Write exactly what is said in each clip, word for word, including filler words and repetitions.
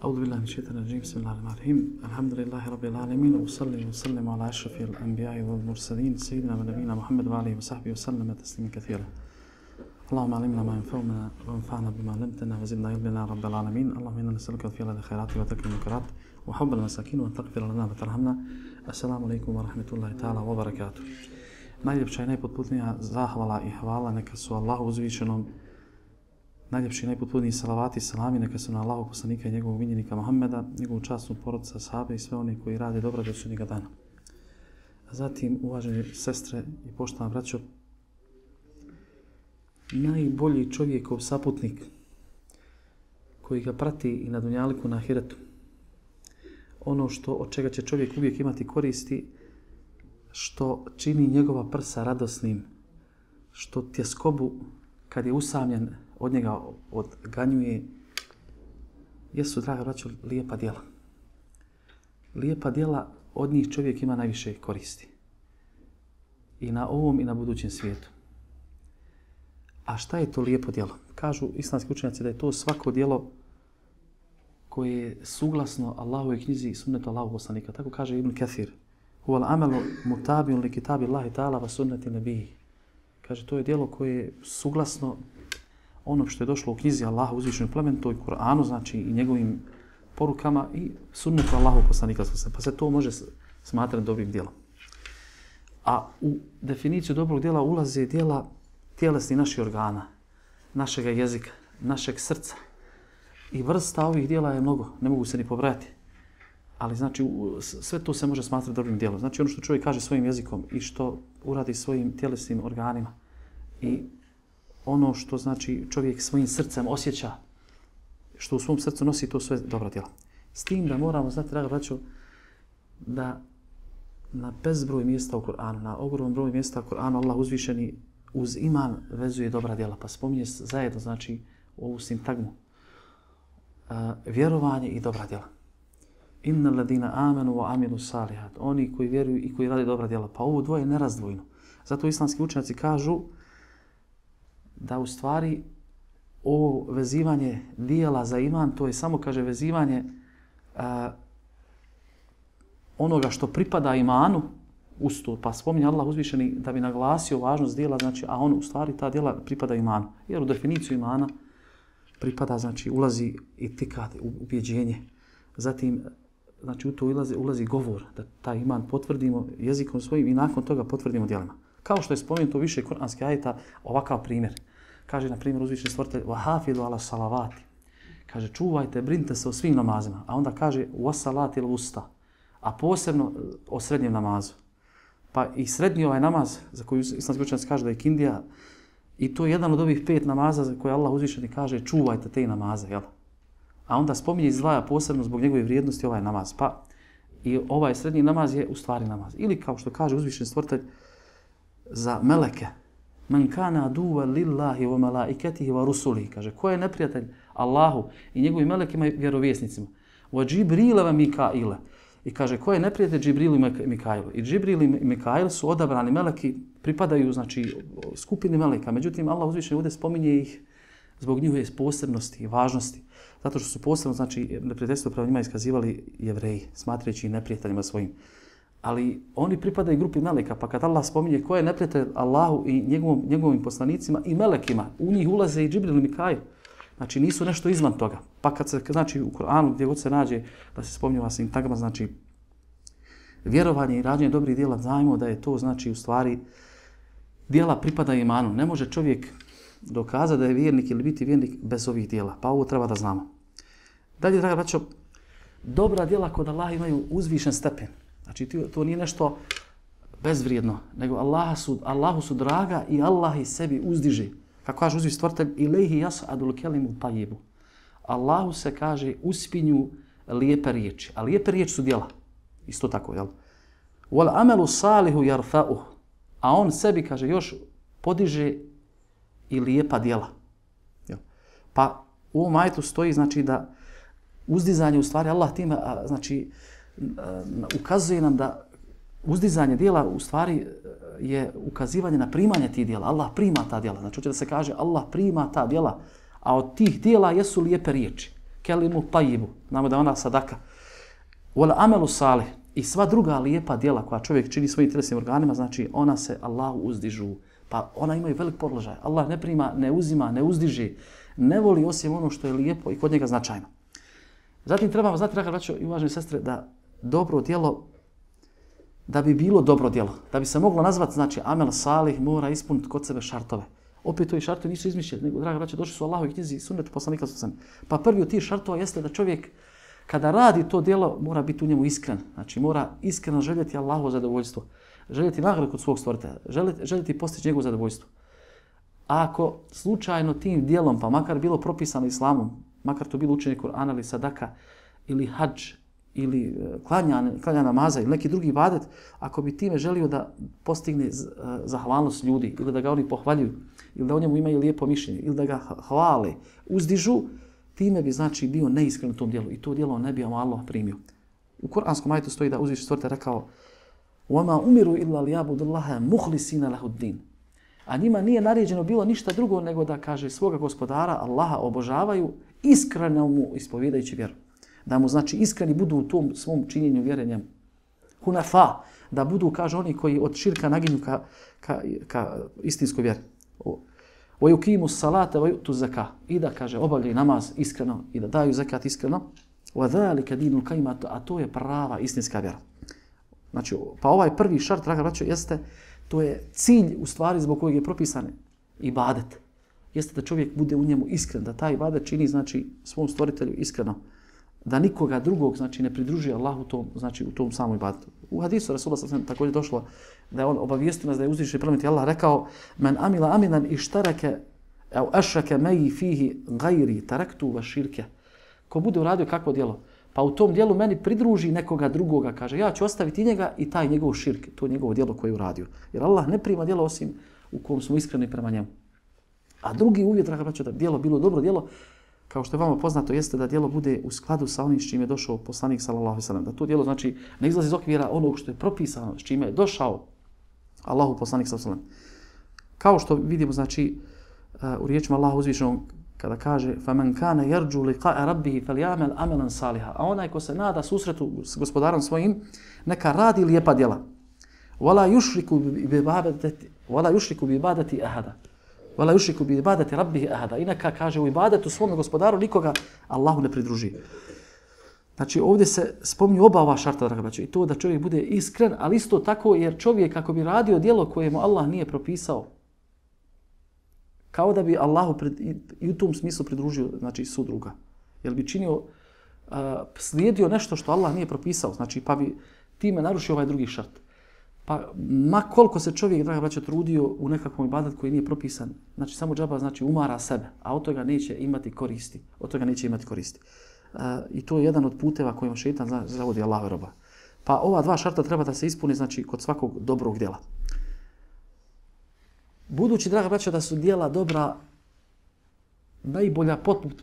أعوذ بالله من الشيطان الرجيم بسم الله الرحمن الرحيم الحمد لله رب العالمين وأصلي وسلم على أشرف الأنبياء والمرسلين سيدنا ونبينا محمد وعليه وصحبه وسلم تسليما كثيرا اللهم علمنا ما ينفعنا وانفعنا بما علمتنا وزدنا علما رب العالمين اللهم إنا نسألك الفعل الخيرات وترك المنكرات وحب المساكين وأن تغفر لنا وترحمنا السلام عليكم ورحمة الله تعالى وبركاته. Najljepša i najpotpunija zahvala i hvala neka su Allahu uzvišenom. Najljepši i najpotpuniji salavati i salami neka su na Allahu poslanika i njegovog miljenika Muhammeda, njegovu časnu porodicu, sahabe i sve one koji rade dobro do sudnjega dana. A zatim, uvažene sestre i poštovana braćo, najbolji čovjekov saputnik koji ga prati i na dunjaliku na ahiretu, ono što od čega će čovjek uvijek imati koristi, što čini njegova prsa radosnim, što tjeskobu kad je usamljen od njega odganjuje, jesu, draga braćo, lijepa djela. Lijepa djela, od njih čovjek ima najviše koristi. I na ovom i na budućem svijetu. A šta je to lijepo djelo? Kažu islamski učenjaci da je to svako djelo koje je suglasno Allahovoj knjizi i sunnetu Allahovog poslanika. Tako kaže Ibn Kathir. Huval amelu mutabijun li kitabi Allahi ta'ala va sunneti nebiji. Kaže, to je djelo koje je suglasno ono što je došlo u knjizi Allaha uzvišenoj plemenitoj, Kur'anu, znači i njegovim porukama i sunnetu Allahovog poslanika. Pa se to može smatrati dobrim djelom. A u definiciju dobrog djela ulaze djela tjelesni naših organa, našeg jezika, našeg srca. I vrsta ovih djela je mnogo, ne mogu se ni pobrajati. Ali znači sve to se može smatrati dobrim djelom. Znači ono što čovjek kaže svojim jezikom i što uradi svojim tjelesnim organima i ono što znači čovjek svojim srcem osjeća, što u svom srcu nosi, to sve dobra djela. S tim da moramo znati, draga braćo, da na bezbroj mjesta u Kur'anu, na ogromnom broju mjesta u Kur'anu Allah uzvišeni uz iman vezuje dobra djela. Pa spominje zajedno, znači, ovu sintagmu. Uh, vjerovanje i dobra djela. Inna ladina amanu wa amilu salihat. Oni koji vjeruju i koji rade dobra djela. Pa ovo dvoje je nerazdvojno. Zato islamski učenjaci kažu da u stvari ovo vezivanje dijela za iman, to je samo, kaže, vezivanje uh, onoga što pripada imanu uz to. Pa spominje Allah uzvišeni da bi naglasio važnost dijela, znači, a on u stvari ta dijela pripada imanu. Jer u definiciju imana pripada, znači, ulazi itikat, ubjeđenje. Zatim, znači, u to ulazi, ulazi govor, da taj iman potvrdimo jezikom svojim i nakon toga potvrdimo djelima. Kao što je spomenuto više kuranskih ajeta, ovakav primjer. Kaže, na primjer, uzvišeni stvoritelj, وَحَافِذُ عَلَى الصَّلَوَاتِ. Kaže, čuvajte, brinite se o svim namazima. A onda kaže, وَسَلَاتِ الْوُسْتَ. A posebno o srednjem namazu. Pa i srednji ovaj namaz, za koju islamski učenjaci kaže da je kindija, i to je jedan od ovih pet namaza za koje Allah uzvišeni kaže, čuvajte te namaze, jel? A onda spominje izdvaja posebno zbog njegove vrijednosti ovaj namaz. Pa i ovaj srednji namaz je u stvari namaz. Ili kao što kaže uzvišeni stvoritelj za meleke. Man kana aduva lillahi wa malaikatihi wa rusulihi. Kaže, ko je neprijatelj Allahu i njegovim melekima i vjerovjesnicima? Wa Džibrila wa Mikaila. I kaže, ko je neprijatelj Džibrilu i Mikailu? I Džibril i Mikail su odabrani meleki, pripadaju, znači, skupini meleka. Međutim, Allah uzvišeni ovdje spominje ih zbog njihove posebnosti i važnosti. Zato što su posebno, znači, neprijateljstvo prema njima iskazivali Jevreji, smatrajući neprijateljima svojim. Ali oni pripadaju grupi meleka, pa kad Allah spominje ko je neprijatelj Allahu i njegovom, njegovim poslanicima i melekima, u njih ulaze i Džibril i Mikail. Znači, nisu nešto izvan toga. Pa kad se, znači, u Kur'anu gdje god se nađe da se spominje ova sintagma, znači, vjerovanje i rađenje dobrih djela, znajmo da je to, znači, u stvari, djela pripada imanu. Ne može čovjek dokazati da je vjernik ili biti vjernik bez ovih djela. Pa ovo treba da znamo. Dalje, draga braćo, dobra djela kod Allaha imaju uzvišen stepen. Znači, to nije nešto bezvrijedno, nego Allaha su, Allahu su draga i Allah ih sebi uzdiže. Kako kaže uzvišeni stvoritelj, ilaihi yas'adul kelimu tayyibu. Allahu se kaže uspinju lijepe riječi. A lijepe riječi su djela. Isto tako, jel? Wal amalu salihu yarfa'uh. A on sebi, kaže, još podiže i lijepa djela. Jel? Pa u ovom ajetu stoji, znači, da uzdizanje u stvari Allah time, znači, ukazuje nam da uzdizanje djela u stvari je ukazivanje na primanje tih djela. Allah prima ta djela. Znači, hoće da se kaže Allah prima ta djela, a od tih djela jesu lijepe riječi. kelimu tajibu, znamo da je ona sadaka. Wal amelu salih, i sva druga lijepa djela koja čovjek čini svojim tjelesnim organima, znači ona se Allahu uzdižu. Pa ona imaju velik položaj. Allah ne prima, ne uzima, ne uzdiže, ne voli osim ono što je lijepo i kod njega značajno. Zatim trebamo znati, draga braćo i uvažene sestre, da dobro djelo, da bi bilo dobro djelo, da bi se moglo nazvati, znači amel salih, mora ispuniti kod sebe šartove. Opet ovi šartovi nisu izmišljeni, nego, draga braćo, došli su u Allahovoj knjizi i sunnetu poslanika sallallahu alejhi ve sellem. Pa prvi od tih šartova jeste da čovjek kada radi to djelo mora biti u njemu iskren. Znači mora iskreno željeti Allahovo zadovoljstvo, željeti nagradu kod svog stvoritelja, željeti, željeti postići njegovo zadovoljstvo. A ako slučajno tim djelom, pa makar bilo propisano islamom, makar to bilo učenje Kur'ana ili sadaka ili hadž ili klanja, klanja namaza ili neki drugi ibadet, ako bi time želio da postigne zahvalnost ljudi ili da ga oni pohvaljuju ili da o njemu imaju lijepo mišljenje ili da ga hvale, uzdižu, time bi znači bio neiskren u tom djelu i to djelo ne bi Allah primio. U Kur'anskom ajetu stoji da uzviši stvoritelj rekao وَمَا أُمِرُوا إِلَّا لِيَعْبُدُوا اللَّهَ مُخْلِصِينَ لَهُ الدِّينَ. A njima nije naređeno bilo ništa drugo nego da, kaže, svoga gospodara Allaha obožavaju iskreno mu ispovjedajući vjeru. Da mu, znači, iskreni budu u tom svom činjenju vjerenjem. Hunafa, da budu, kaže, oni koji od širka naginju ka, ka, ka istinskoj vjeri. وَيُقِيمُوا الصَّلَاةَ وَيُؤْتُوا الزَّكَاةَ. I da, kaže, obavljaju namaz iskreno i da daju zekat iskreno. وَذَلِكَ دِينُ الْقَيِّمَةُ. A to je prava istinska vjera. Znači, pa ovaj prvi šart, draga braćo, jeste, to je cilj u stvari zbog kojeg je propisan ibadet. Jeste da čovjek bude u njemu iskren, da taj ibadet čini, znači, svom stvoritelju iskreno. Da nikoga drugog, znači, ne pridružuje Allahu tom, znači, u tom samom ibadetu. U hadisu Rasulullah sallallahu alejhi ve sellem također došlo da je on obavijestio nas da je uzvišeni plemeniti Allah rekao men amila aminan ištarake au ašrake meji fihi gajri taraktu va širke. Ko bude uradio kakvo djelo, pa u tom djelu meni pridruži nekoga drugoga, kaže, ja ću ostaviti njega i taj njegov širk, to njegovo djelo koje je uradio. Jer Allah ne prima djelo osim u kom smo iskreni prema njemu. A drugi uvjet, draga braćo, da djelo bilo dobro djelo, kao što je vama poznato, jeste da djelo bude u skladu sa onim s čime je došao poslanik sallallahu alejhi ve sellem. Da to djelo, znači, ne izlazi iz okvira onog što je propisano, s čime je došao Allahu poslanik sallallahu alejhi ve sellem. Kao što vidimo, znači, u riječima Allaha uzvišenog, kada kaže فَمَنْ كَانَ يَرْجُوا لِقَاءَ رَبِّهِ فَلْيَعْمَلْ عَمَلًا صَالِحًا. A onaj ko se nada susretu s gospodarom svojim, neka radi lijepa djela. وَلَا يُشْرِكُ بِعِبَادَتِ وَلَا يُشْرِكُ بِعِبَادَتِ أَحَدًا. وَلَا يُشْرِكُ بِعِبَادَتِ رَبِّهِ أَحَدًا. I neka, kaže, u ibadetu svom gospodaru nikoga Allahu ne pridruži. Znači, ovdje se spominju oba ova šarta, draga braćo, i to da čovjek bude iskren, ali isto tako jer čovjek ako bi radio djelo koje mu Allah nije propisao, kao da bi Allahu pred, i u tom smislu pridružio, znači, sudruga. Jer bi činio, uh, slijedio nešto što Allah nije propisao, znači, pa bi time narušio ovaj drugi šart. Pa ma koliko se čovjek, draga braćo, trudio u nekakvom ibadetu koji nije propisan, znači, samo džaba, znači, umara sebe, a od toga neće imati koristi. Od toga neće imati koristi. Uh, I to je jedan od puteva kojima šeitan zavodi Allahu roba. Pa ova dva šarta treba da se ispuni, znači, kod svakog dobrog djela. Budući, draga braćo, da su djela dobra najbolja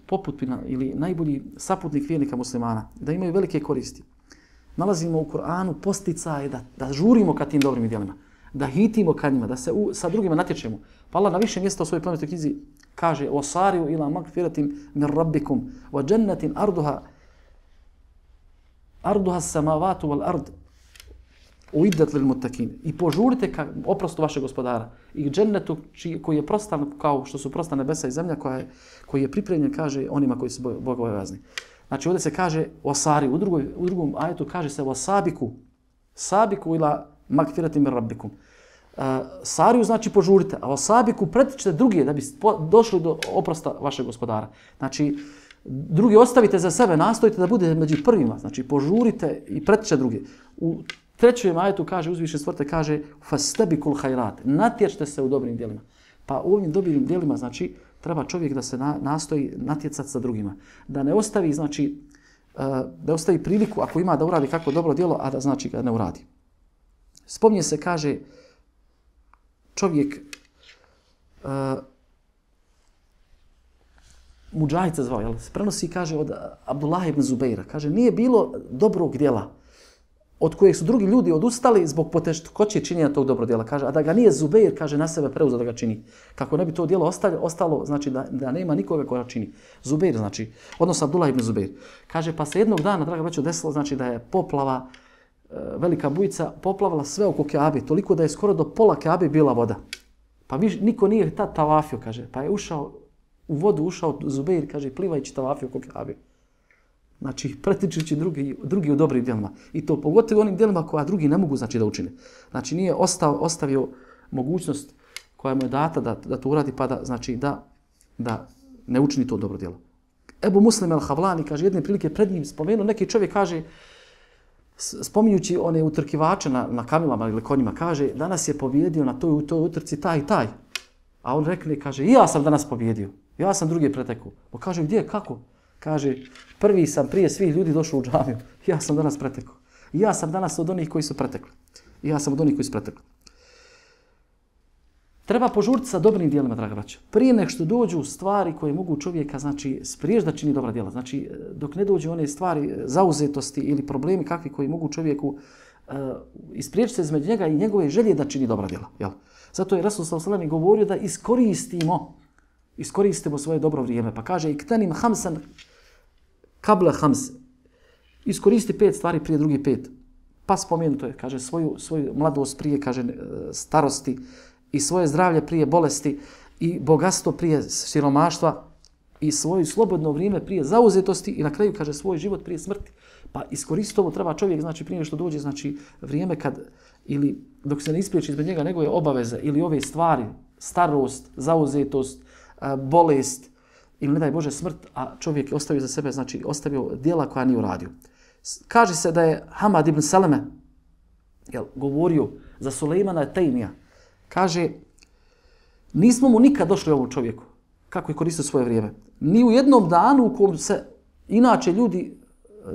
poputpina ili najbolji saputnik vjernika muslimana, da imaju velike koristi, nalazimo u Kur'anu posticaje da, da žurimo ka tim dobrim djelima, da hitimo ka njima, da se u, sa drugima natječemo. Pa Allah na više mjesta u svojoj plemenitoj knjizi kaže وَصَارِيُوا إِلَى مَغْفِرَةٍ مِنْ رَبِّكُمْ وَجَنَّةٍ أَرْضُهَا أَرْضُهَا السَّمَاوَاتُ وَالْأَرْضُ uiddat lil muttaqin. I požurite ka oprostu vašeg gospodara i džennetu koji je prostan kao što su prostan nebesa i zemlja, koja je, koji je pripremljen, kaže, onima koji su bogobojazni. Znači ovdje se kaže wasari, u, drugoj, u drugom ajetu kaže se wasabiku, sabiku ila magfiratin min rabbikum. Uh, sariju znači požurite, a wasabiku pretičite drugi da bi došli do oprosta vašeg gospodara. Znači drugi ostavite za sebe, nastojite da bude među prvima, znači požurite i pretičite drugi. U trećem ajetu kaže uzvišeni stvoritelj, kaže fastabikul khairat, natječite se u dobrim djelima. Pa u ovim dobrim djelima, znači, treba čovjek da se na, nastoji natjecati sa drugima. Da ne ostavi, znači, uh, da ostavi priliku ako ima da uradi kako dobro djelo, a da znači ga ne uradi. Spominje se, kaže, čovjek uh, Mudžahid se zvao, jel? Se prenosi, kaže, od Abdullah ibn Zubeira. Kaže, nije bilo dobrog djela od kojeg su drugi ljudi odustali zbog poteškoće činjenja tog dobro djela. Kaže, a da ga nije Zubeir, kaže, na sebe preuzeo da ga čini. Kako ne bi to djelo ostalo, ostalo znači da, da nema nikoga koja čini. Zubeir, znači, odnosno Abdullah ibn Zubeir. Kaže, pa se jednog dana, draga braćo, desilo, znači da je poplava, velika bujica, poplavala sve oko Keabe, toliko da je skoro do pola Keabe bila voda. Pa viš, niko nije tad tavafio, kaže, pa je ušao, u vodu ušao Zubeir, kaže, plivajući tavafio oko Keabe. Znači, pretičući drugi, drugi u dobrim djelima. I to pogotovo onim djelima koja drugi ne mogu znači, da učine. Znači, nije ostav, ostavio mogućnost koja mu je data da, da to uradi, pa da, znači, da, da ne učini to dobro djelo. Ebu Muslim el-Havlani, kaže, jedne prilike pred njim spomenuo, neki čovjek kaže, spominjući one utrkivače na, na kamilama ili konjima, kaže, danas je pobjedio na toj, u toj utrci taj i taj. A on rekne, kaže, i ja sam danas pobjedio. Ja sam drugi pretekao. Pa kaže, gdje, kako? Kaže, prvi sam prije svih ljudi došao u džamiju. Ja sam danas pretekao. Ja sam danas od onih koji su pretekli. Ja sam od onih koji su pretekli. Treba požuriti sa dobrim djelima, draga braća. Prije nek što dođu stvari koje mogu čovjeka, znači, spriješ da čini dobra djela. Znači, dok ne dođu one stvari zauzetosti ili problemi kakvi koji mogu čovjeku uh, ispriječiti se između njega i njegove želje da čini dobra djela. Jel? Zato je Rasul sallallahu alejhi ve sellem govorio da iskoristimo, iskoristimo svoje dobro vrijeme. Pa kaže, iktanim hamsan kabla hams. Iskoristi pet stvari prije drugi pet. Pa spomenuto je, kaže, svoju, svoju mladost prije, kaže, starosti, i svoje zdravlje prije bolesti, i bogatstvo prije siromaštva, i svoje slobodno vrijeme prije zauzetosti, i na kraju, kaže, svoj život prije smrti. Pa iskoristiti ovo treba čovjek, znači, prije što dođe, znači, vrijeme kad, ili dok se ne ispriječi izbog njega njegove obaveze, ili ove stvari, starost, zauzetost, bolest, ili ne daj Bože smrt, a čovjek je ostavio za sebe, znači, ostavio djela koja nije uradio. Kaže se da je Hamad ibn Saleme jel, govorio za Sulejmana Tejmija. Kaže, nismo mu nikad došli ovom čovjeku, kako je koristio svoje vrijeme. Ni u jednom danu u kojem se inače ljudi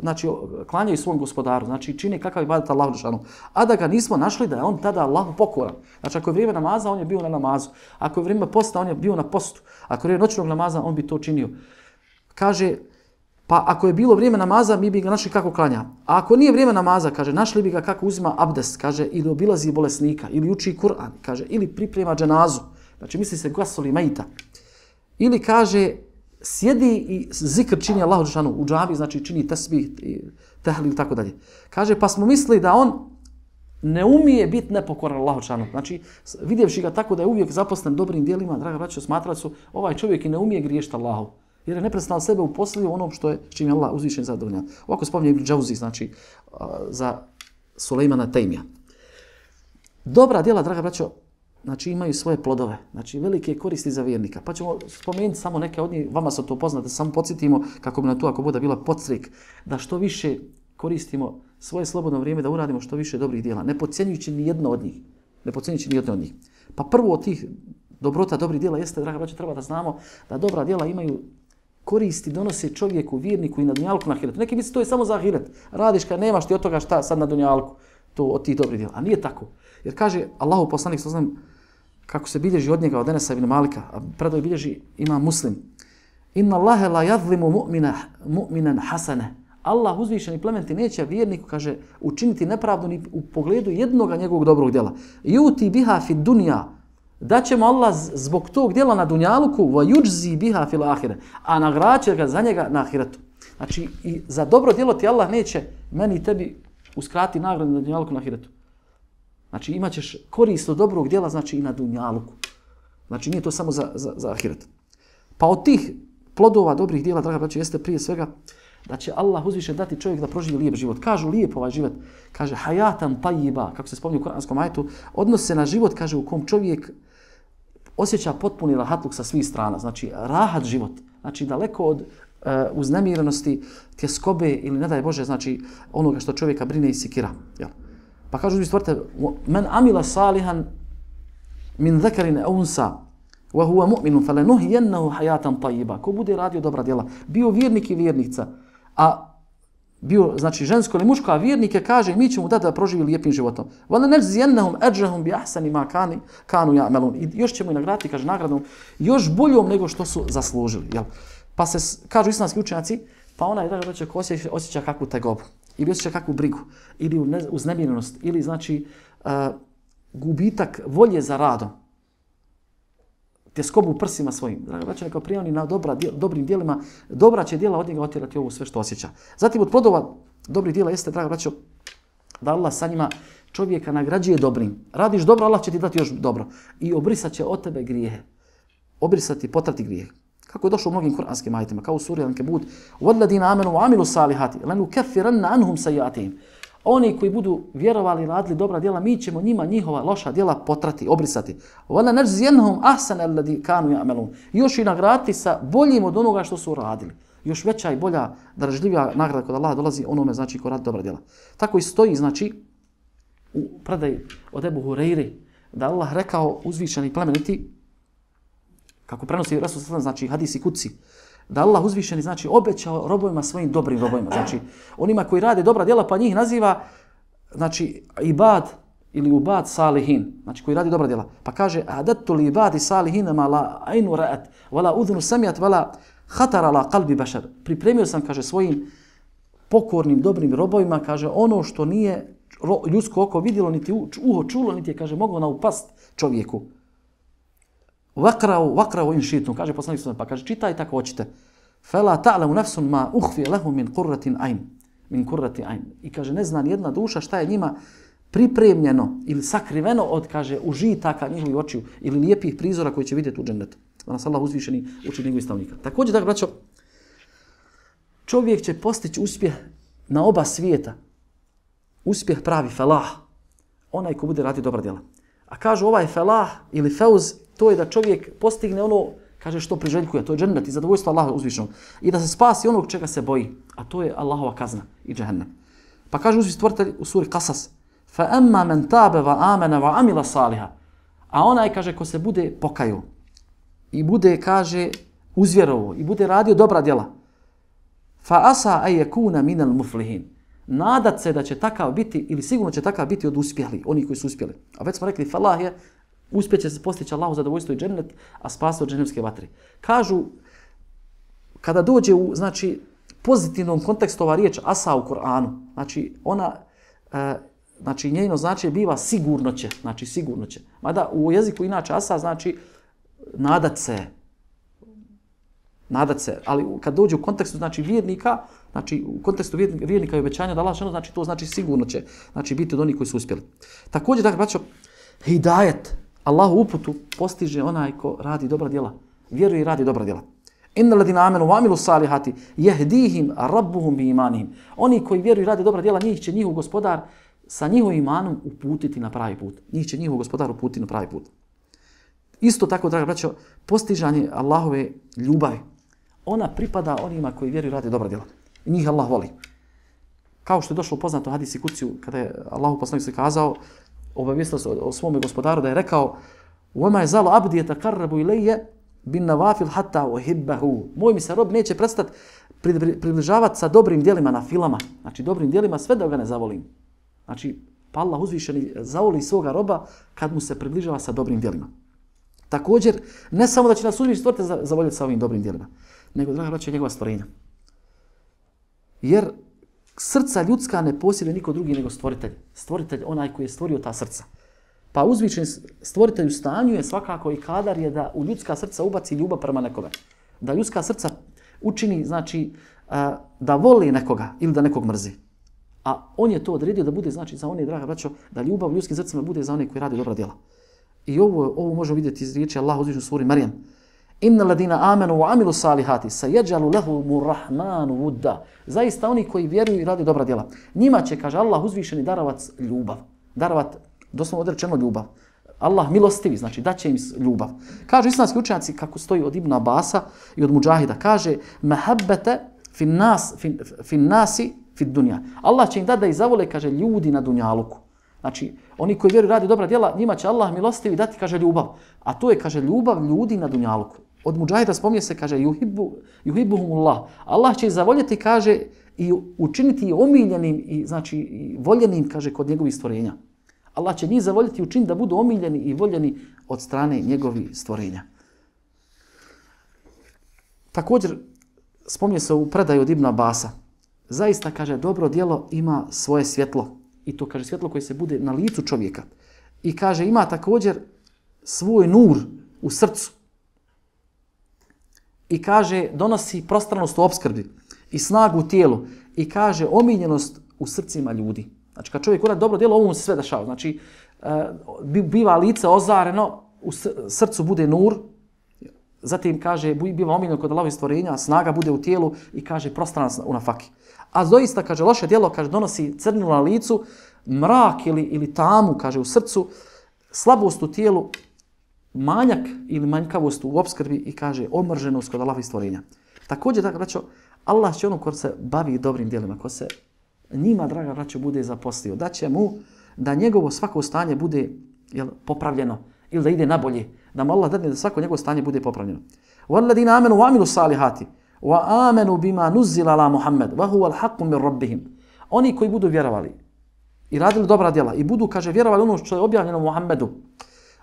znači, klanjaju svom gospodaru, znači čine kakav ibadet Allahu dželešanu, a da ga nismo našli da je on tada Allahu pokoran. Znači ako je vrijeme namaza, on je bio na namazu. Ako je vrijeme posta, on je bio na postu. Ako je vrijeme noćnog namaza, on bi to činio. Kaže, pa ako je bilo vrijeme namaza, mi bi ga našli kako klanja. A ako nije vrijeme namaza, kaže, našli bi ga kako uzima abdest, kaže, ili obilazi bolesnika, ili uči Kur'an, kaže, ili priprema dženazu. Znači misli se gasoli majita. Ili kaže, sjedi i zikr čini Allahu dželešanu u džavi, znači čini tasbih, tehlil i tako dalje. Kaže, pa smo mislili da on ne umije biti nepokoran Allahu dželešanu. Znači, vidjevši ga tako da je uvijek zaposlen dobrim djelima, draga braćo, smatrali su, ovaj čovjek i ne umije griješiti Allahu. Jer je neprestano sebe uposlio onom što je, čim je Allah uzvišen zadovoljan. Ovako spominje Ibn Džauzi, znači, za Sulejmana Tejmija. Dobra djela, draga braćo, znači imaju svoje plodove, znači velike koristi za vjernika. Pa ćemo spomenuti samo neke od njih, vama se to poznate, samo podsjetimo kako bi na to, ako bude bila podstrek, da što više koristimo svoje slobodno vrijeme, da uradimo što više dobrih djela, ne podcjenjujući ni jedno od njih. Ne podcjenjujući ni jedno od njih. Pa prvo od tih dobrota, dobrih djela jeste, draga braćo, treba da znamo da dobra djela imaju koristi, donose čovjeku, vjerniku i na dunjalku na ahiretu. Neki misli to je samo za ahiret. Radiš kad nemaš ti od toga šta sad na dunjalku, to od tih dobrih djela. A nije tako. Jer kaže Allahu poslanik sallallahu alejhi ve sellem kako se bilježi od njega od Enesa ibn Malika, a predaj bilježi ima Muslim. Inna Allahe la yadhlimu mu'mina mu'minan hasana. Allah uzvišeni plementi neće vjerniku, kaže, učiniti nepravdu ni u pogledu jednog njegovog dobrog djela. Yuti biha fi dunya. Da ćemo Allah zbog tog djela na dunjaluku wa yujzi biha fil ahire, a nagraće ga za njega na ahiretu. Znači, i za dobro djelo ti Allah neće meni i tebi uskrati nagradu na dunjaluku na ahiretu. Znači, imat ćeš korist od dobrog djela, znači i na dunjaluku. Znači, nije to samo za, za, za ahiret. Pa od tih plodova dobrih djela, draga braćo, jeste prije svega da će Allah uzviše dati čovjek da proživi lijep život. Kažu lijep ovaj život, kaže hayatan tayyiba, kako se spominje u kuranskom ajetu, odnosi se na život, kaže, u kom čovjek osjeća potpuni rahatluk sa svih strana, znači rahat život, znači daleko od uh, uznemirenosti, tjeskobe ili ne daj Bože, znači onoga što čovjeka brine i sikira. Jel? Pa kažu mi stvorite, men amila salihan min zakarin aw unsa wa huwa mu'minun falanuhyiyannahu hayatan tayyiba. Ko bude radio dobra djela, bio vjernik i vjernica, a bio znači žensko ili muško, a vjernike kaže mi ćemo dati da proživi lijepim životom. Wala najziyannahum ajrahum bi ahsani ma kanu kanu ya'malun. I još ćemo i nagraditi, kaže, nagradom još boljom nego što su zaslužili, jel? Pa se kažu islamski učenjaci, pa onaj, draga braćo, ko osjeća, osjeća kakvu tegobu ili osjeća kakvu brigu, ili uznemirenost, ili znači uh, gubitak volje za radom, tjeskobu u prsima svojim. Draga braćo, neka prijavni na dobra, djel, dobrim djelima, dobra će djela od njega otjerati ovo sve što osjeća. Zatim od plodova dobrih djela jeste, draga braćo, da Allah sa njima čovjeka nagrađuje dobrim. Radiš dobro, Allah će ti dati još dobro. I obrisat će od tebe grijehe. Obrisati, potrati grijehe. Kako je došlo u mnogim kuranskim ajetima, kao u suri Al-Ankabut, وَالَّذِينَ آمَنُوا وَعَمِلُوا الصَّالِحَاتِ لَنُكَفِّرَنَّ عَنْهُمْ سَيِّئَاتِهِمْ. Oni koji budu vjerovali i radili dobra djela, mi ćemo njima njihova loša djela potrati, obrisati. وَلَا نَجْزِيَنَّهُمْ أَحْسَنَ الَّذِي كَانُوا يَعْمَلُونَ. Još i nagraditi sa boljim od onoga što su radili. Još veća i bolja, dražljivija nagrada kod Allaha dolazi onome, znači, ko radi dobra djela. Tako i stoji, znači, u predaji od Ebu Hureyri, da Allah rekao uzvišeni i plemeniti, kako prenosi Rasul sallallahu, znači hadisi kuci, da Allah uzvišeni, znači, obećao robovima svojim dobrim robovima, znači onima koji rade dobra djela, pa njih naziva, znači, ibad ili ubad salihin, znači koji radi dobra djela. Pa kaže, adatu li ibadi salihin ma la ainu ra'at, wala udhunu samiat, wala khatar ala qalbi bashar. Pripremio sam, kaže, svojim pokornim, dobrim robovima, kaže, ono što nije ljudsko oko vidjelo, niti uho čulo, niti je, kaže, moglo naupast čovjeku. Vakrao, vakrao in šitnu, kaže poslanik sallallahu, pa kaže, čitaj tako hoćete. Fela ta'lamu nafsun ma ukhfi lahum min qurratin ayn, min qurrati ayn. I kaže, ne zna ni jedna duša šta je njima pripremljeno ili sakriveno od, kaže, užitaka njihovih očiju ili lijepih prizora koji će vidjeti u džennetu. Da nas Allah uzvišeni uči njegovih stavnika. Također, dakle, braćo, čovjek će postići uspjeh na oba svijeta. Uspjeh pravi felah, onaj ko bude radi dobra djela. A kažu ovaj felah ili feuz, to je da čovjek postigne ono, kaže, što priželjkuje, to je džennet i zadovoljstvo Allaha uzvišenog. I da se spasi onog čega se boji, a to je Allahova kazna i džehennem. Pa kaže uzvišeni stvoritelj u suri Qasas, فَأَمَّا مَنْ تَابَ وَآمَنَ وَعَمِلَ صَالِحًا. A onaj, kaže, ko se bude pokajao i bude, kaže, uzvjerovo i bude radio dobra djela, فَأَسَا أَيَكُونَ مِنَ الْمُفْلِهِينَ. Nadat se da će takav biti, ili sigurno će takav biti od uspjeli, oni koji su uspjeli. A već smo rekli, falah je, uspjet će se postići Allahu zadovoljstvo i džennet, a spasti od džennemske vatre. Kažu, kada dođe u, znači, pozitivnom kontekstu ova riječ asa u Kur'anu, znači, ona, e, znači, njeno značenje biva sigurno će, znači, sigurno će. Mada u jeziku inače asa znači nadat se, nadat se, ali kad dođe u kontekstu, znači, vjernika, znači, u kontekstu vjernika i obećanja da Allah šano, znači, to znači sigurno će, znači, biti od onih koji su uspjeli. Također, dakle, braćo, hidajet, Allahu uputu postiže onaj ko radi dobra djela, vjeruje i radi dobra djela. Inna ladina amenu wa amilu salihati jehdihim rabbuhum bi imanihim. Oni koji vjeruju i radi dobra djela, njih će njihov gospodar sa njihovim imanom uputiti na pravi put. Njih će njihov gospodar uputiti na pravi put. Isto tako, draga braćo, postižanje Allahove ljubavi, ona pripada onima koji vjeruju i radi dobra djela. I njih Allah voli. Kao što je došlo poznato hadisi kuciju, kada je Allahu poslanik se kazao, obavijestio se o svome gospodaru da je rekao وَمَا يَزَالُ عَبْدِي يَتَقَرَّبُ إِلَيَّ بِالنَّوَافِلْ حَتَّى أُحِبَّهُ. Moj mi se rob neće prestati približavati sa dobrim djelima na filama, znači dobrim djelima sve da ga ne zavolim. Znači, pa Allah uzvišeni zavoli svoga roba kad mu se približava sa dobrim djelima. Također, ne samo da će nas uzvišeni stvoritelj zavoljeti sa ovim dobrim djelima, nego, draga braćo, njegova stvorenja. Jer srca ljudska ne posjeduje niko drugi nego stvoritelj. Stvoritelj, onaj koji je stvorio ta srca. Pa uzvišen stvoritelj u stanju je svakako i kadar je da u ljudska srca ubaci ljubav prema nekome. Da ljudska srca učini, znači, da voli nekoga ili da nekog mrzi. A on je to odredio da bude, znači, za one, draga braćo, da ljubav u ljudskim srcima bude za one koji radi dobra djela. I ovo, ovo možemo vidjeti iz riječi Allah uzvišen u suri Marijem. Inna ladina amenu wa amilu salihati sayajalu lahumur rahmanu wudda. Zaista oni koji vjeruju i rade dobra djela, njima će, kaže Allah uzvišeni, darovat ljubav. Darovat, doslovno odrečeno ljubav. Allah milostivi, znači daće im ljubav. Kažu islamski učenjaci, kako stoji od Ibn Abasa i od Mujahida, kaže mahabbete fin nas fin, fin nasi fin dunja. Allah će im dati da ih zavole, kaže, ljudi na dunjaluku. Znači, oni koji vjeruju i rade dobra djela, njima će Allah milostivi dati, kaže, ljubav. A to je, kaže, ljubav ljudi na dunjaluku. Od Mujahida spominje se, kaže, yuhibbu yuhibbuhumullah. Allah će ih zavoljeti, kaže, i učiniti ih omiljenim i, znači, i voljenim, kaže, kod njegovih stvorenja. Allah će njih zavoljeti i učiniti da budu omiljeni i voljeni od strane njegovih stvorenja. Također, spominje se u predaju od Ibn Abasa, zaista, kaže, dobro djelo ima svoje svjetlo. I to, kaže, svjetlo koje se bude na licu čovjeka. I, kaže, ima također svoj nur u srcu. I, kaže, donosi prostranost u opskrbi i snagu u tijelu. I, kaže, omiljenost u srcima ljudi. Znači, kad čovjek uradi dobro djelo, ovo mu se sve dešava. Znači, biva lice ozareno, u srcu bude nur, zatim, kaže, biva omiljeno kod Allahovih stvorenja, snaga bude u tijelu i, kaže, prostranost u nafaki. A doista, kaže, loše djelo, kaže, donosi crnilo na licu, mrak ili, ili tamu, kaže, u srcu, slabost u tijelu, manjak ili manjkavost u opskrbi i, kaže, omrženost kod Allahovih stvorenja. Također, dakle, braćo, Allah će ono ko se bavi dobrim djelima, ko se njima, draga braćo, bude zaposlio, da će mu da njegovo svako stanje bude, jel, popravljeno ili da ide nabolje, da mu Allah dadne da svako njegovo stanje bude popravljeno. وَالَّذِينَ آمَنُوا وَعَمِلُوا الصَّالِحَاتِ وَآمَنُوا بِمَا نُزِّلَ عَلَى مُحَمَّدٍ وَهُوَ الْحَقُّ مِنْ رَبِّهِمْ. Oni koji budu vjerovali i radili dobra djela i budu, kaže, vjerovali ono što je objavljeno Muhammedu,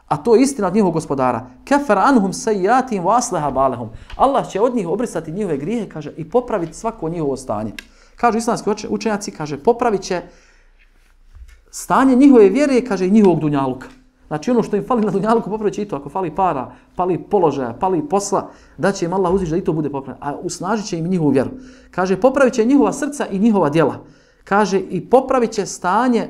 a to je istina od njihovog gospodara. كَفَرَ عَنْهُمْ سَيِّئَاتِهِمْ وَأَصْلَحَ بَالَهُمْ. Allah će od njih obrisati njihove grijehe, kaže, i popraviti svako njihovo stanje. Kažu islamski učenjaci, kaže, popravit će stanje njihove vjere, kaže, i njihovog dunjaluka. Znači, ono što im fali na dunjaluku, popravit će i to. Ako fali para, fali položaja, fali posla, da će im Allah uzvići da i to bude popravljeno. A usnažit će im njihovu vjeru. Kaže, popravit će njihova srca i njihova djela. Kaže, i popravit će stanje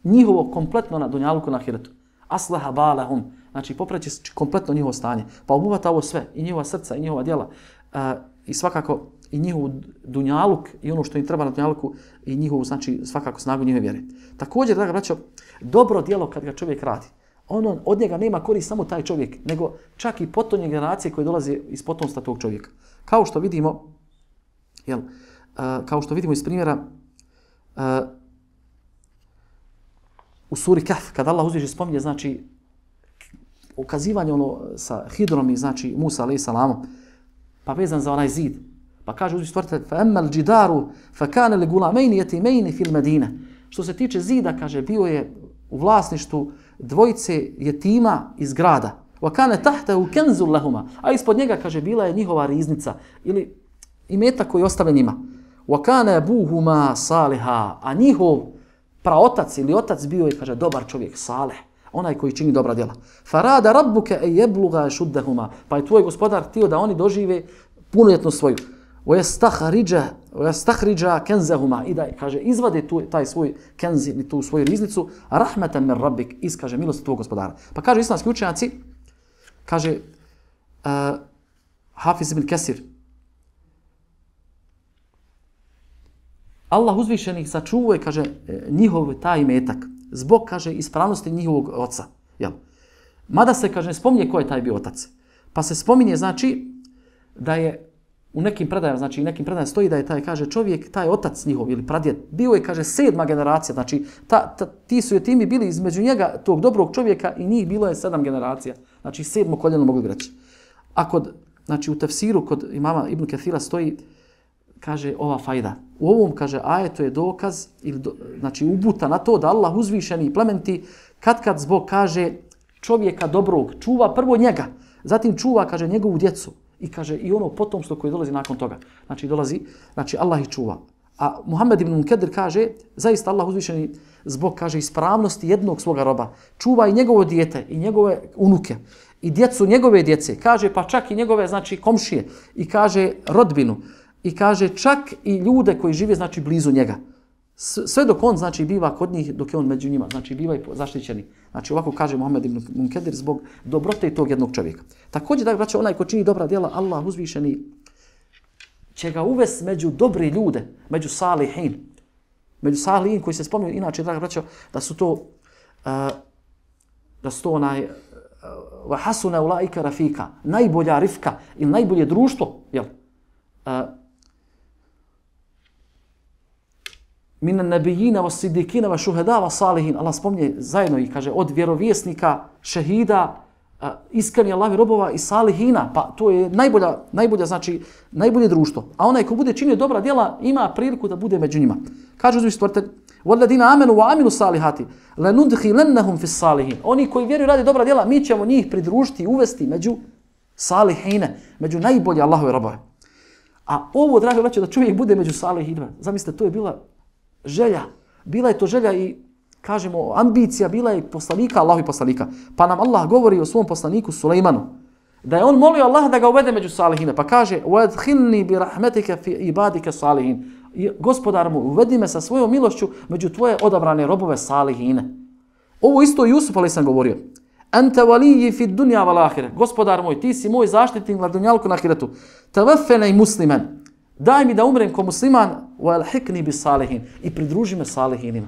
njihovo kompletno na dunjaluku na ahiretu. Aslaha balahum. Znači, popravit će kompletno njihovo stanje. Pa obuhvata ovo sve, i njihova srca, i njihova djela. Uh, I svakako, i njihov dunjaluk, i ono što im treba na dunjaluku, i njihovu, znači, svakako snagu njihove vjere. Također, draga braćo, dobro djelo kad ga čovjek radi, ono, od njega nema korist samo taj čovjek, nego čak i potonje generacije koje dolaze iz potomstva tog čovjeka. Kao što vidimo, jel, uh, kao što vidimo iz primjera uh, u suri Kahf, kad Allah uzviše spominje, znači, ukazivanje ono sa Hidrom i, znači, Musa alejhi selam, pa vezan za onaj zid. Pa kaže uzviše stvoritelj, فَأَمَّا الْجِدَارُ فَكَانَ لِغُلَامَيْنِ يَتِيمَيْنِ فِي الْمَدِينَ. Što se tiče zida, kaže, bio je u vlasništvu dvojice jetima iz grada. وَكَانَ تَحْتَهُ كَنْزٌ لَهُمَا. A ispod njega, kaže, bila je njihova riznica ili imetak koji ostavlja njima. وَكَانَ أَبُوهُمَا صَالِحًا. A njihov praotac ili otac bio je, kaže, dobar čovjek, salih, onaj koji čini dobra djela. فَرَادَ رَبُّكَ أَن يَبْلُغَا أَشُدَّهُمَا. Pa je tvoj gospodar htio da oni dožive punoljetnost svoju. وَيَسْتَخْرِجَا كَنْزَهُمَا. I da, kaže, izvade tu, taj svoj kenz ili tu svoju riznicu, رَحْمَةً مِنْ رَبِّكَ. Iz, kaže, milosti tvog gospodara. Pa kaže islamski učenjaci, kaže uh, Hafiz ibn Kesir, Allah uzvišenih sačuvuje, kaže, njihov taj imetak zbog, kaže, ispravnosti njihovog oca. Jel? Mada se, kaže, ne spominje ko je taj bio otac. Pa se spominje, znači, da je u nekim predajama, znači u nekim predajama stoji da je taj, kaže, čovjek, taj otac njihov ili pradjed, bio je, kaže, sedma generacija. Znači, ta, ta, ti su jetimi bili između njega, tog dobrog čovjeka, i njih bilo je sedam generacija. Znači, sedmo koljeno mogli reći. A kod, znači, u tefsiru kod imama Ibn Kathira stoji, kaže, ova fajda. U ovom, kaže, ajetu je dokaz, ili do, znači, ubuta na to da Allah uzvišeni i plementi, kad kad zbog, kaže, čovjeka dobrog, čuva prvo njega, zatim čuva, kaže, njegovu djecu i, kaže, i ono potomstvo koje dolazi nakon toga. Znači, dolazi, znači, Allah ih čuva. A Muhammed ibn Munkedir kaže, zaista Allah uzvišeni zbog, kaže, ispravnosti jednog svoga roba, čuva i njegovo dijete, i njegove unuke, i djecu njegove djece, kaže, pa čak i njegove, znači, komšije, i kaže, rodbinu, i kaže, čak i ljude koji žive, znači, blizu njega. Sve dok on, znači, biva kod njih, dok je on među njima, znači, biva i zaštićeni. Znači, ovako kaže Muhammed ibn Munkedir zbog dobrote tog jednog čovjeka. Također, da braćo, onaj ko čini dobra djela, Allah uzvišeni će ga uvesti među dobre ljude, među salihin. Među salihin koji se spominju, inače, da braćo, da su to, uh, da su to onaj, wa hasuna ulaika rafika, najbolja rifka ili najbolje društvo, jel? Uh, Minan nabijina wa sidikina wa šuheda wa salihin. Allah spominje zajedno i kaže od vjerovjesnika, šehida, iskreni Allahovi robova i salihina. Pa to je najbolja, najbolja, znači najbolje društvo. A onaj ko bude činio dobra djela ima priliku da bude među njima. Kaže uzvišeni stvoritelj: "Walladina amanu wa amilu salihati lanudkhilannahum fis salihin." Oni koji vjeruju i rade dobra djela, mi ćemo njih pridružiti i uvesti među salihine, među najbolje Allahove robove. A ovo, drago braćo, da čovjek bude među salihinima, zamislite, to je bila želja. Bila je to želja i, kažemo, ambicija, bila je poslanika, Allahovi poslanika. Pa nam Allah govori o svom poslaniku Sulejmanu, da je on molio Allah da ga uvede među salihine. Pa kaže, وَادْخِلْنِي بِرَحْمَتِكَ فِي عِبَادِكَ صَالِحِينَ. Gospodar mu, uvedi me sa svojom milošću među tvoje odabrane robove salihine. Ovo isto Jusuf alejhi selam govorio. Anta waliyyi fi dunya wal akhirah. Gospodar moj, ti si moj zaštitnik na dunjalku na ahiretu. Tawaffani musliman. Daj mi da umrem kao musliman, wa alhiqni bis salihin, i pridruži me salihinima.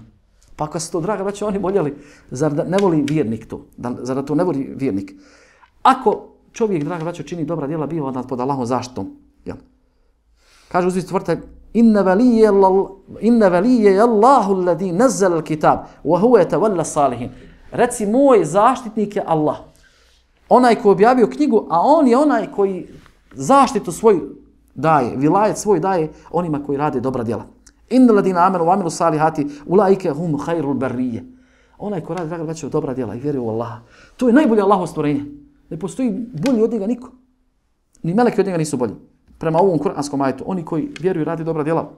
Pa ako se to, draga braćo, oni voljeli, zar da ne voli vjernik to? Da, zar da to ne voli vjernik? Ako čovjek, draga braćo, čini dobra djela, bio onda pod Allahom zaštitom. Jel? Kaže uzvišeni stvoritelj, inna waliyya inna waliyya Allahu alladhi nazzala al-kitab wa huwa yatawalla salihin. Reci, moj zaštitnik je Allah. Onaj koji objavio knjigu, a on je onaj koji zaštitu svoju daje, vilajet svoj daje onima koji rade dobra djela. Innal ladina amanu wa amilu salihati ulaika hum khairul barriye. Onaj ko radi, draga braćo, dobra djela i vjeruje u Allaha. To je najbolje Allahovo stvorenje. Ne postoji bolji od njega niko. Ni meleki od njega nisu bolji. Prema ovom kuranskom ajetu, oni koji vjeruju i rade dobra djela,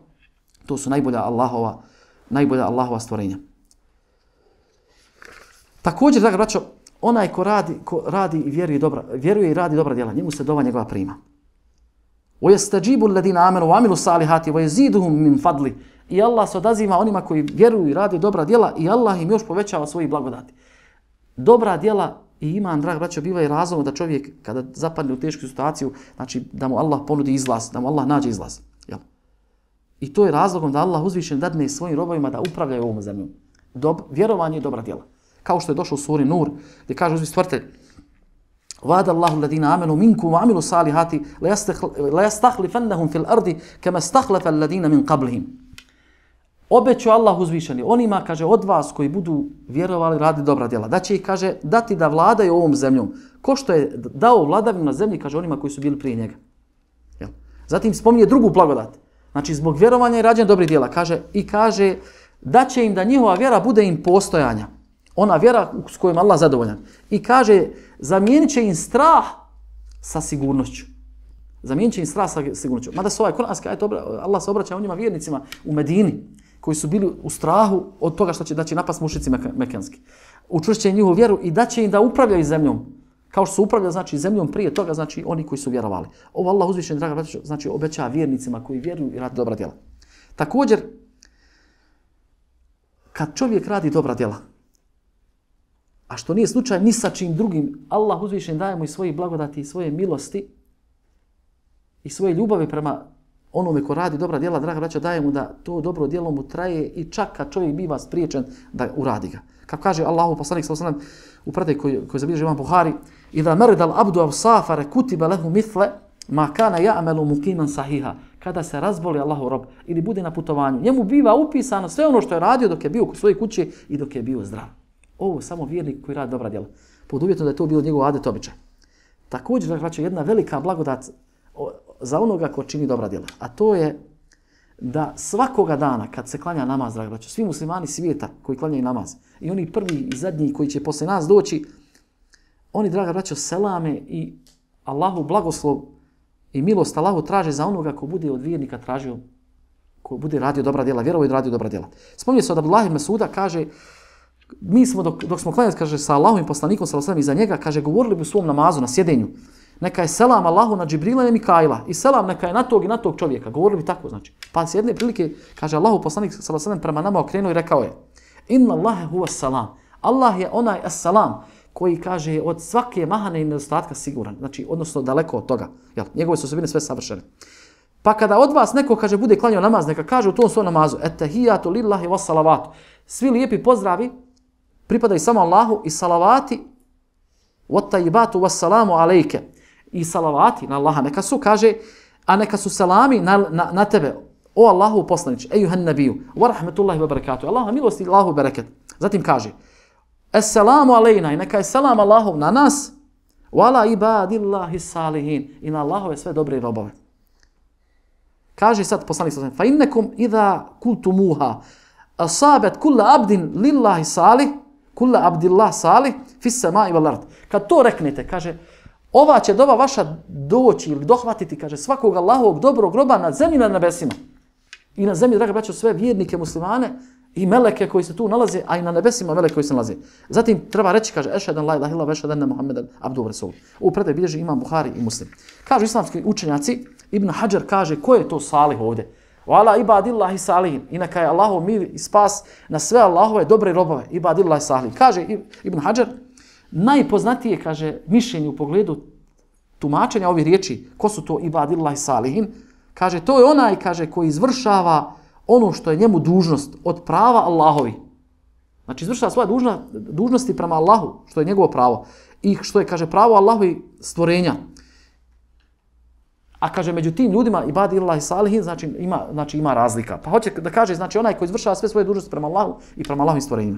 to su najbolja Allahova, najbolja Allahova stvorenja. Također, draga braćo, onaj ko radi, ko radi i vjeruje, dobra, vjeruje i radi dobra djela, njemu se dova njegova prima. وَيَسْتَجِيبُ الَّذِينَ آمَنُوا وَعَمِلُوا الصَّالِحَاتِ وَيَزِيدُهُم مِّن فَضْلِ. I Allah se odaziva onima koji vjeruju i rade dobra djela i Allah im još povećava svoje blagodati. Dobra djela i iman, draga braćo, biva i razlog da čovjek kada zapadne u tešku situaciju, znači da mu Allah ponudi izlaz, da mu Allah nađe izlaz. Jel? I to je razlogom da Allah uzvišen dadne svojim robovima da upravljaju ovom zemljom. Dob, vjerovanje i dobra djela. Kao što je došlo u suri Nur, gdje kaže uzvišeni stvoritelj, وَعَدَ اللَّهُ الَّذِينَ آمَنُوا مِنكُمْ وَعَمِلُوا الصَّالِحَاتِ لَيَسْتَخْلِفَنَّهُمْ فِي الْأَرْضِ كَمَا اسْتَخْلَفَ الَّذِينَ مِنْ قَبْلِهِمْ. Obećao Allah uzvišeni onima, kaže, od vas koji budu vjerovali, radi dobra djela, da će ih, kaže, dati da vladaju ovom zemljom, ko što je dao vladavinu na zemlji, kaže, onima koji su bili prije njega. Jel? Zatim spominje drugu blagodat. Znači, zbog vjerovanja i rađenja dobrih djela, kaže, i kaže, da će im da njihova vjera bude im postojanja. Ona vjera s kojom Allah zadovoljan. I kaže, zamijenit će im strah sa sigurnošću. Zamijenit će im strah sa sigurnošću. Mada se ovaj kuranski ajet, Allah se obraća onima vjernicima u Medini, koji su bili u strahu od toga što će, da će napast mušrici mekanski. Učvršće njihovu vjeru i da će im da upravljaju zemljom. Kao što su upravljali, znači, zemljom prije toga, znači, oni koji su vjerovali. Ovo Allah uzvišen, draga braćo, znači, obećava vjernicima koji vjeruju i radi dobra djela. Također, kad čovjek radi dobra djela, a što nije slučaj ni sa čim drugim, Allah uzvišen daje mu i svoje blagodati i svoje milosti i svoje ljubavi prema onome ko radi dobra djela, draga braćo, daje mu da to dobro djelo mu traje i čak kad čovjek biva spriječen da uradi ga. Kako kaže Allahu poslanik sallallahu alejhi ve sellem u predaji koji koji zabilježi Imam Buhari, "Idha marida al-abdu aw safara kutiba lahu mithla ma kana ya'malu muqiman sahiha." Kada se razboli Allahov rob ili bude na putovanju, njemu biva upisano sve ono što je radio dok je bio u svojoj kući i dok je bio zdrav. Ovo samo vjernik koji radi dobra djela. Pod uvjetom da je to bilo njegov adet običaj. Također, dakle, jedna velika blagodat za onoga ko čini dobra djela. A to je da svakoga dana kad se klanja namaz, dragi braćo, svi muslimani svijeta koji klanjaju namaz i oni prvi i zadnji koji će posle nas doći, oni, draga braćo, selame i Allahu blagoslov i milost Allahu traže za onoga ko bude od vjernika tražio, ko bude radio dobra djela, vjerovao i radio dobra djela. Spominje se od Abdullah ibn Mas'uda, kaže, mi smo dok, dok smo klanjali, kaže, sa Allahovim poslanikom sallallahu alejhi ve sellem iza njega, kaže, govorili bi u svom namazu na sjedenju. Neka je selam Allahu na Džibrila i Mikaila i selam neka je na tog i na tog čovjeka. Govorili bi tako, znači. Pa s jedne prilike, kaže, Allahu poslanik sallallahu alejhi ve sellem prema nama okrenuo i rekao je: "Inna Allahe huwa salam." Allah je onaj as-salam koji, kaže, od svake mahane i nedostatka siguran, znači odnosno daleko od toga. Jel, njegove su osobine sve savršene. Pa kada od vas neko, kaže, bude klanjao namaz, neka kaže u tom svom namazu: "Ettehijatu lillahi was salavatu." Svi lijepi pozdravi pripadaju samo Allahu i salavati wat-tayyibatu was-salamu alejke. I salavati na Allaha neka su, kaže, a neka su salami na, na, na tebe, o Allahu poslanić, ejuhan nabiju, wa rahmetullahi wa barakatuh, Allaha milosti, Allahu bereket. Zatim kaže, assalamu alejna, i neka je salam Allahov na nas, wa ala ibadillahi salihin, i na Allahove sve dobre robove. Kaže sad poslanik sallallahu alejhi ve sellem: "Fa innakum idha kultumuha asabat kullu abdin lillahi salih, kullu abdillah salih fi samai wal ard." Kad to reknete, kaže, ova će dova vaša doći ili dohvatiti, kaže, svakog Allahovog dobrog roba na zemlji na nebesima. I na zemlji, draga braćo, sve vjernike muslimane i meleke koji se tu nalaze, a i na nebesima meleke koji se nalaze. Zatim treba reći, kaže, ešhedan la ilaha illallah, ešhedan Muhammeden abduhu rasul. U predaj bilježi imam Buhari i Muslim. Kažu islamski učenjaci, Ibn Hadžar kaže, ko je to salih ovdje? Wala ibadillahi salihin. I neka je Allahov mir i spas na sve Allahove dobre robove. Ibadillahi salihin. Kaže Ibn Hadžar, najpoznatije, kaže, mišljenje u pogledu tumačenja ovih riječi, ko su to ibadillahi salihin, kaže, to je onaj, kaže, koji izvršava ono što je njemu dužnost od prava Allahovi. Znači, izvršava svoje dužna, dužnosti prema Allahu, što je njegovo pravo. I što je, kaže, pravo Allahovi stvorenja. A kaže, među tim ljudima, ibadillahi salihin, znači ima, znači ima razlika. Pa hoće da kaže, znači, onaj koji izvršava sve svoje dužnosti prema Allahu i prema Allahovim stvorenjima.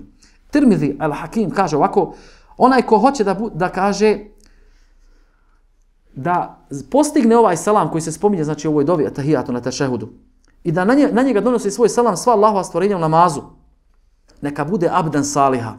Tirmidhi al-Hakim kaže ovako, onaj ko hoće da, da kaže, da postigne ovaj selam koji se spominje, znači u ovoj dovi atahijatu na tešehudu, i da na, nje, na njega donosi svoj selam sva Allahova stvorenja u namazu, neka bude abdan saliha,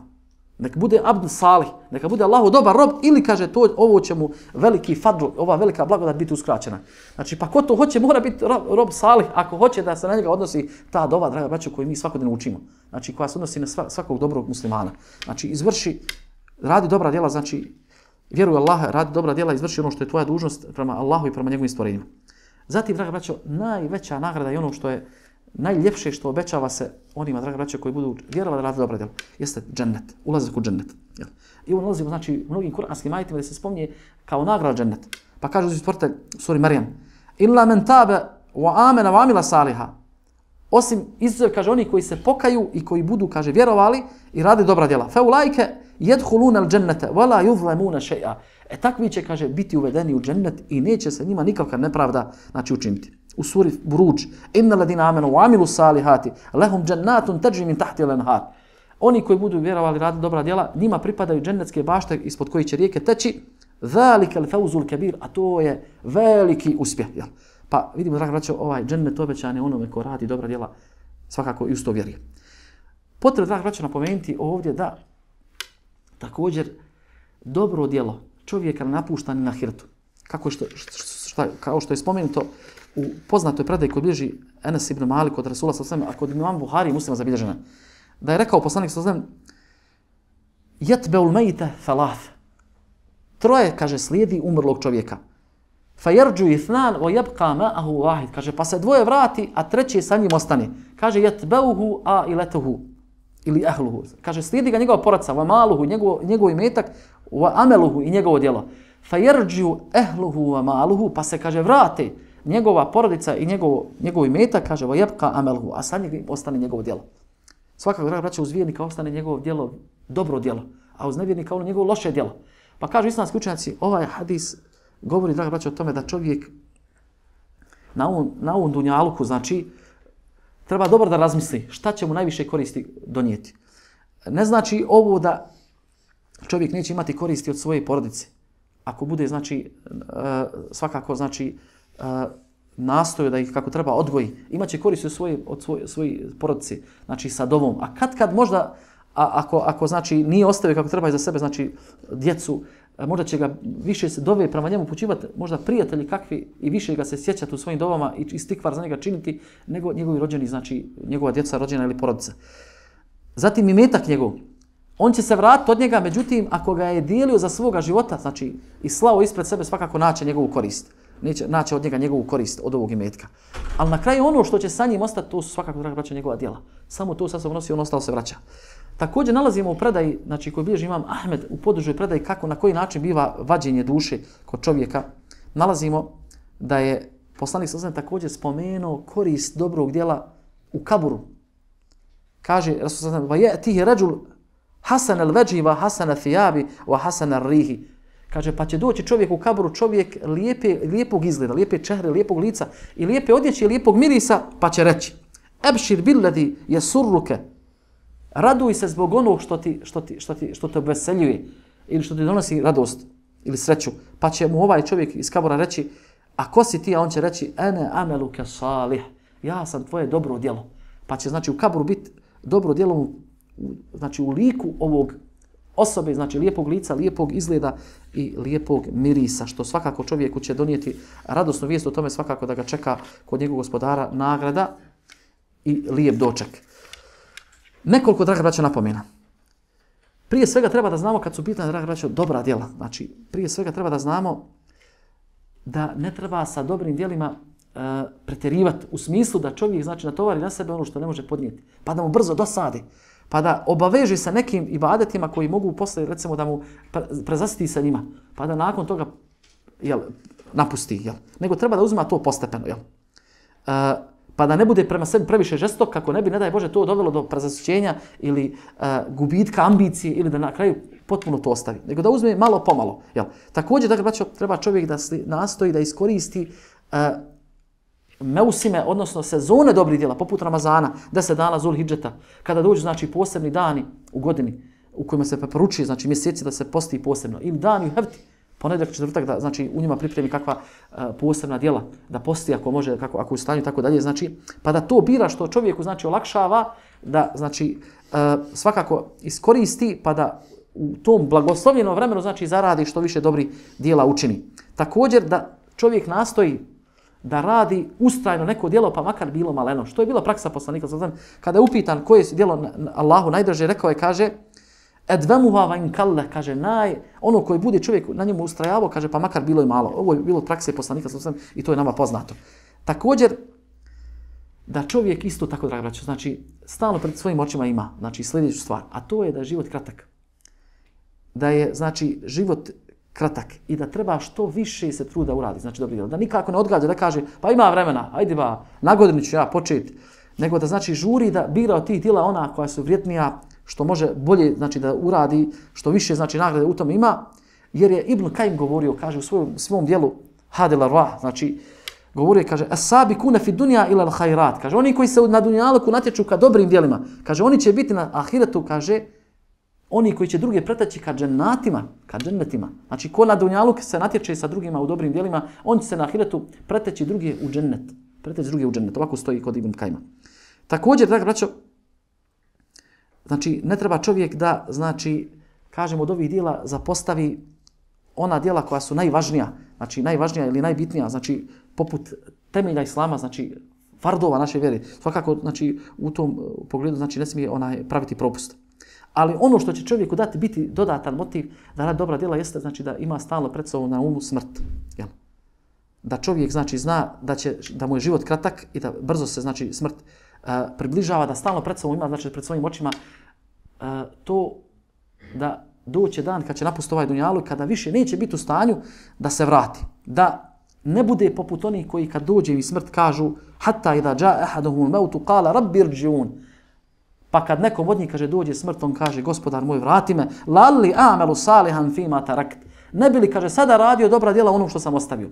neka bude abdan salih, neka bude Allahu dobar rob, ili kaže to, ovo će mu veliki fadl, ova velika blagodat biti uskraćena. Znači, pa ko to hoće, mora biti rob, rob salih, ako hoće da se na njega odnosi ta dova, draga braćo, koju mi svakodnevno učimo. Znači, koja se odnosi na svakog dobrog muslimana. Znači, izvrši, radi dobra djela, znači, vjeruj Allaha, radi dobra djela, izvrši ono što je tvoja dužnost prema Allahu i prema njegovim stvorenjima. Zatim, draga braćo, najveća nagrada i ono što je najljepše što obećava se onima, draga braćo, koji budu vjerovati da radi dobra djela, jeste džennet, ulazak u džennet. I ovo nalazimo, znači, u mnogim kuranskim ajetima da se spominje kao nagrada džennet. Pa kaže uzvi stvoritelj suri Marijam, illa men tabe wa amena wa amila saliha. Osim izuzev, kaže, oni koji se pokaju i koji budu, kaže, vjerovali i radi dobra djela. Fe ulajke jedhuluna al-džennete wa la yuzlamuna shay'a. E takvi će, kaže, biti uvedeni u džennet i neće se njima nikakva nepravda, znači, učiniti. U suri Buruđ, inna ladina amenu wa amilu salihati, lahum džennatun tajri min tahti al-anhar. Oni koji budu vjerovali radi dobra djela, njima pripadaju džennetske bašte ispod kojih će rijeke teći, zalika al-fawzul kabir, a to je veliki uspjeh. Jel? Pa vidimo, draga braćo, ovaj džennet obećan je onome ko radi dobra djela, svakako i uz to vjeruje. Potrebno, draga braćo, napomenuti ovdje da također dobro djelo čovjeka napušta ni na hirtu. Kako što, šta, kao što je spomenuto u poznatoj predaji kod bilježi Enes ibn Malik od Rasula sallallahu alejhi ve sellem, a kod imam Buhari i Muslima zabilježena, da je rekao poslanik sallallahu alejhi ve sellem, yatba'ul mayta thalath. Troje, kaže, slijedi umrlog čovjeka. Fajerđu ithnan wa yabqa ma'ahu wahid. Kaže, pa se dvoje vrati, a treći sa njim ostane. Kaže, yatba'uhu a ilatuhu ili ahluhu. Kaže, slijedi ga njegova porodca, wa maluhu, njegov, njegov imetak, wa ameluhu i njegovo djelo. Fajerđu ahluhu wa maluhu, pa se, kaže, vrate njegova porodica i njegov, njegov imetak, kaže, wa yabqa ameluhu, a sa njim ostane njegovo djelo. Svakako, draga braća, uz vjernika ostane njegovo djelo, dobro djelo, a uz nevjernika ono njegovo loše djelo. Pa kažu islamski učenjaci, ovaj hadis govori, draga braća, o tome da čovjek na ovom, na ovom dunjaluku, znači, treba dobro da razmisli šta će mu najviše koristi donijeti. Ne znači ovo da čovjek neće imati koristi od svoje porodice. Ako bude, znači, svakako, znači, nastoju da ih kako treba odgoji, imaće koristi od svoje, od svoje, svoje porodice, znači sa dovom. A kad kad možda, a, ako, ako znači nije ostavio kako treba iza sebe, znači djecu, možda će ga više se dove prema njemu upućivati, možda prijatelji kakvi i više ga se sjećati u svojim dovama i istikvar za njega činiti, nego njegovi rođeni, znači njegova djeca, rođena ili porodica. Zatim imetak njegov. On će se vratiti od njega, međutim, ako ga je dijelio za svoga života, znači i slao ispred sebe, svakako naće njegovu korist. Neće naći od njega njegovu korist od ovog imetka. Ali na kraju ono što će sa njim ostati, to su svakako, draga braća, njegova djela. Samo to sa sobom nosi, on ostalo se vraća. Također nalazimo u predaji, znači koji bilježi imam Ahmed u podružnoj predaji kako, na koji način biva vađenje duše kod čovjeka. Nalazimo da je poslanik sallallahu alejhi ve sellem također spomenuo korist dobrog djela u kaburu. Kaže Rasul sallallahu alejhi ve sellem: "Va ya'tihi rajul hasan al-wajhi wa hasan al-thiyabi wa hasan ar-rihi." Kaže, pa će doći čovjek u kaburu, čovjek lijepe, lijepog izgleda, lijepe čehre, lijepog lica i lijepe odjeće i lijepog mirisa, pa će reći: "Ebšir billadi yasurruka." Raduj se zbog onog što ti, što ti, što ti, što te obveseljuje ili što ti donosi radost ili sreću. Pa će mu ovaj čovjek iz kabura reći: "A ko si ti?" A on će reći: "Ene ameluke salih." Ja sam tvoje dobro djelo. Pa će, znači, u kaburu biti dobro djelo, znači u liku ovog osobe, znači lijepog lica, lijepog izgleda i lijepog mirisa, što svakako čovjeku će donijeti radosnu vijest o tome, svakako da ga čeka kod njegovog gospodara nagrada i lijep doček. Nekoliko, draga braćo, napomena. Prije svega treba da znamo, kad su pitanje, draga braćo, dobra djela. Znači, prije svega treba da znamo da ne treba sa dobrim djelima uh, pretjerivati u smislu da čovjek, znači, natovari na sebe ono što ne može podnijeti, pa da mu brzo dosadi, pa da obaveže sa nekim ibadetima koji mogu posle, recimo, da mu prezasiti sa njima, pa da nakon toga jel, napusti. Jel. Nego treba da uzima to postepeno. Jel. Uh, pa da ne bude prema sebi previše žestok, kako ne bi, ne daj Bože, to dovelo do prezasićenja ili uh, gubitka ambicije ili da na kraju potpuno to ostavi. Nego da uzme malo pomalo. Jel. Također, dakle, braćo, treba čovjek da nastoji da iskoristi uh, meusime, odnosno sezone dobrih djela, poput Ramazana, deset dana Zul Hidžeta, kada dođu, znači, posebni dani u godini u kojima se preporučuje, znači, mjeseci da se posti posebno, ili dani u Hevti, ponedjeljak, četvrtak, da, znači, u njima pripremi kakva uh, posebna djela, da posti ako može, kako, ako u stanju, tako dalje, znači, pa da to bira što čovjeku, znači, olakšava, da, znači, uh, svakako iskoristi, pa da u tom blagoslovljenom vremenu, znači, zaradi što više dobrih djela učini. Također, da čovjek nastoji da radi ustrajno neko djelo, pa makar bilo maleno. Što je bila praksa poslanika, kada je upitan koje je djelo Allahu najdraže, rekao je, kaže, edvemuha va in kalle, kaže, naj, ono koji bude čovjek na njemu ustrajavao, kaže, pa makar bilo i malo. Ovo je bilo od prakse poslanika i to je nama poznato. Također, da čovjek isto tako, draga braćo, znači, stalno pred svojim očima ima, znači, sljedeću stvar, a to je da je život kratak. Da je, znači, život kratak i da treba što više se truda uradi, znači dobro djelo. Da nikako ne odgađa, da kaže, pa ima vremena, ajde ba, na godinu ću ja početi, nego da, znači, žuri da bira od tih djela ona koja su vrijednija, što može bolje, znači, da uradi, što više, znači, nagrade u tom ima, jer je Ibn Kajim govorio, kaže, u svojom, svom djelu Hadil Arwah, znači, govorio, kaže, as-sabikuna fi dunya ila al-khairat, kaže, oni koji se na dunjaluku natječu ka dobrim djelima, kaže, oni će biti na ahiretu, kaže, oni koji će druge preteći ka džennatima, ka džennetima. Znači, ko na dunjaluk se natječe sa drugima u dobrim djelima, on će se na ahiretu preteći druge u džennet. Preteći druge u džennet. Ovako stoji kod Ibn Kajima. Također, draga braćo, znači, ne treba čovjek da, znači, kažemo od ovih djela zapostavi ona djela koja su najvažnija, znači najvažnija ili najbitnija, znači poput temelja islama, znači fardova naše vjere. Svakako, znači, u tom pogledu, znači, ne smije onaj praviti propust. Ali ono što će čovjeku dati biti dodatan motiv da radi dobra djela jeste, znači, da ima stalno pred sobom na umu smrt. Jel? Da čovjek, znači, zna da će, da mu je život kratak i da brzo se, znači, smrt uh, približava, da stalno pred sobom ima, znači, pred svojim očima uh, to da doće dan kad će napustiti ovaj dunjaluk, kada više neće biti u stanju da se vrati. Da ne bude poput onih koji kad dođe i smrt kažu hatta idha jaa ahaduhum al-maut qala rabbi irji'un. Pa kad nekom od njih, kaže, dođe smrt, on kaže, gospodar moj, vrati me, lalli a'malu salihan fima tarakt. Ne bi li, kaže, sada radio dobra djela onom što sam ostavio.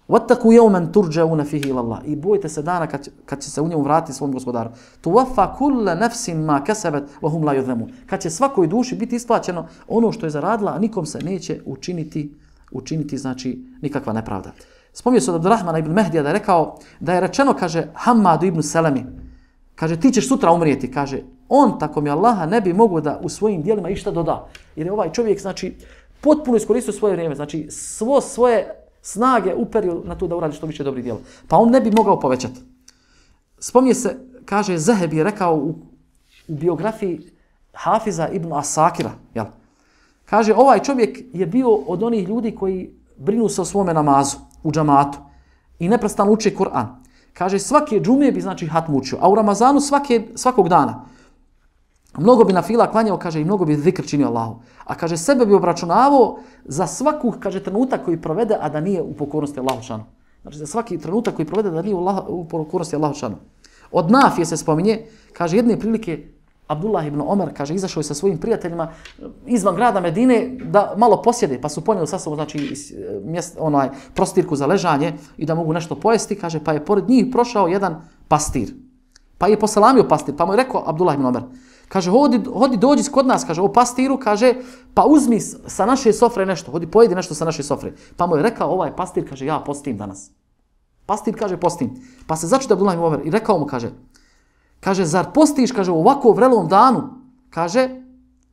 Wattaqu yawman turja'una fihi ila Allah. I bojte se dana kad, kad će se u njemu vratiti svom gospodaru. Tuwaffa kullu nafsin ma kasabat wa hum la yuzlamun. Kad će svakoj duši biti isplaćeno ono što je zaradila, a nikom se neće učiniti, učiniti, znači, nikakva nepravda. Spomnio se od Abdurrahmana ibn Mehdija da je rekao, da je rečeno, kaže, Hammadu ibn Selemi, kaže, ti ćeš sutra umrijeti, kaže, on, tako mi Allaha, ne bi mogao da u svojim dijelima išta doda. Jer je ovaj čovjek, znači, potpuno iskoristio svoje vrijeme, znači, svo svoje snage uperio na to da uradi što više dobrih djela. Pa on ne bi mogao povećati. Spomnije se, kaže, Zehebi je rekao u, u biografiji Hafiza ibn Asakira, jel? Kaže, ovaj čovjek je bio od onih ljudi koji brinu se o svome namazu u džamatu i neprestano uče Kur'an. Kaže, svake džume bi, znači, hatmu učio, a u Ramazanu svake, svakog dana. Mnogo bi na fila klanjao, kaže, i mnogo bi zikr činio Allahu. A kaže, sebe bi obračunavao za svaku, kaže, trenutak koji provede, a da nije u pokornosti Allahu šanu. Znači, za svaki trenutak koji provede, da nije u, Allah, u pokornosti Allahu šanu. Od Nafije se spominje, kaže, jedne prilike, Abdullah ibn Omer, kaže, izašao je sa svojim prijateljima izvan grada Medine da malo posjede, pa su ponijeli sa sobom, znači, mjest, onaj, prostirku za ležanje i da mogu nešto pojesti, kaže, pa je pored njih prošao jedan pastir. Pa je poselamio pastir, pa mu je rekao Abdullah ibn Omer, kaže, hodi, hodi dođi kod nas, kaže, o pastiru, kaže, pa uzmi sa naše sofre nešto, hodi pojedi nešto sa naše sofre. Pa mu je rekao ovaj pastir, kaže, ja postim danas. Pastir kaže, postim. Pa se začudio Abdullah ibn Omer i rekao mu, kaže, kaže, zar postiš, kaže, u ovako vrelom danu, kaže,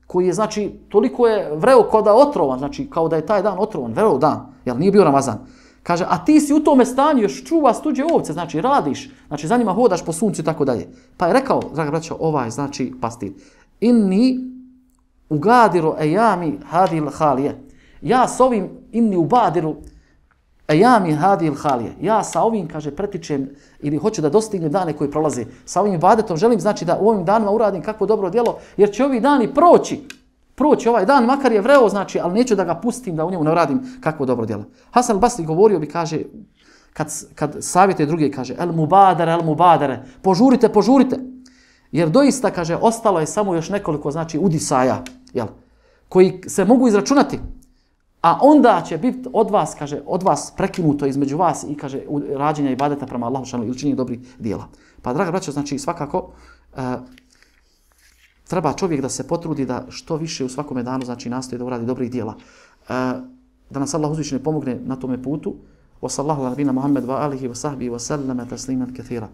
koji je, znači, toliko je vreo kao da je otrovan, znači, kao da je taj dan otrovan, vreo dan, jel nije bio Ramazan. Kaže, a ti si u tome stanju, još čuvaš tuđe ovce, znači, radiš, znači, za njima hodaš po suncu i tako dalje. Pa je rekao, draga braćo, ovaj, znači, pastir, inni ugadiru ejami hadil halije. Ja s ovim, inni ubadiru ejami hadil halije. Ja sa ovim, kaže, pretičem ili hoću da dostignem dane koji prolaze. Sa ovim ibadetom želim, znači, da u ovim danima uradim kakvo dobro djelo, jer će ovi dani proći. Proći ovaj dan, makar je vreo, znači, ali neću da ga pustim, da u njemu ne uradim kakvo dobro djelo. Hasan al-Basri govorio bi, kaže, kad, kad savjetuje druge, kaže, el mubadare, el mubadare, požurite, požurite. Jer doista, kaže, ostalo je samo još nekoliko, znači, udisaja, jel, koji se mogu izračunati. A onda će biti od vas, kaže, od vas prekinuto između vas i, kaže, rađenja ibadeta prema Allahu šanu ili činjenja dobrih djela. Pa, draga braćo, znači, svakako, uh, treba čovjek da se potrudi da što više u svakome danu, znači, nastoji da uradi dobrih djela. Uh, da nas Allah uzvišeno pomogne na tome putu. Wa sallahu ala nabina Muhammed wa alihi wa sahbihi wa sallama tasliman kathira.